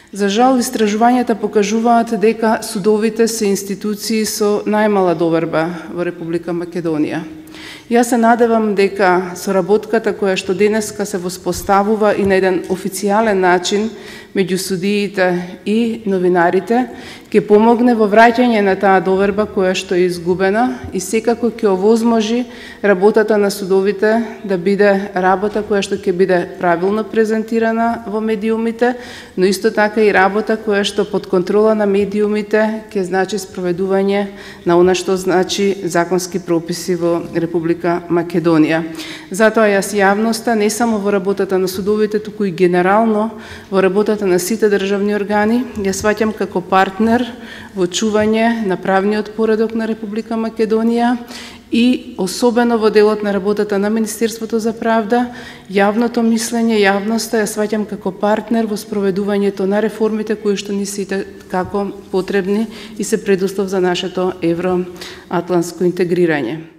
За жал, истражувањата покажуваат дека судовите се институции со најмала доверба во Република Македонија. Јас се надевам дека соработката која што денеска се воспоставува и на еден официјален начин меѓу судиите и новинарите ќе помогне во враќање на таа доверба која што е изгубена и секако ќе овозможи работата на судовите да биде работа која што ќе биде правилно презентирана во медиумите, но исто така и работа која што под контрола на медиумите ќе значи спроведување на она што значи законски прописи во Република Македонија. Затоа јас јавноста не само во работата на судовите, туку и генерално во работата на сите државни органи ја сваќам како партнер во чување на правниот поредок на Република Македонија и особено во делот на работата на Министерството за правда, јавното мислење, јавноста ја сваќам како партнер во спроведувањето на реформите кои што ни се како потребни и се предуслов за нашето евроатлантско интегрирање.